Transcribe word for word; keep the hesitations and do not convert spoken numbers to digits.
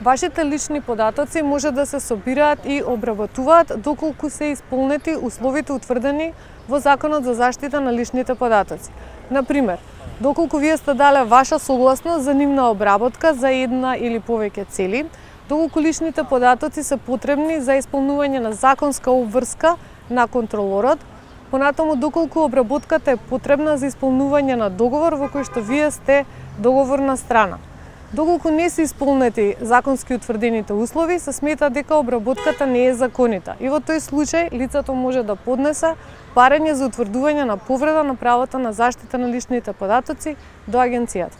Вашите лични податоци може да се собираат и обработуваат доколку се исполнети условите утврдени во Законот за заштита на личните податоци. Например, доколку вие сте дале ваша согласност за нивна обработка за една или повеќе цели, доколку личните податоци се потребни за исполнување на законска обврска на контролорот, понатаму доколку обработката е потребна за исполнување на договор во кој што вие сте договорна страна. Доколку не се исполнети законски утврдените услови, се смета дека обработката не е законита и во тој случај лицето може да поднесе барање за утврдување на повреда на правото на заштита на личните податоци до агенцијата.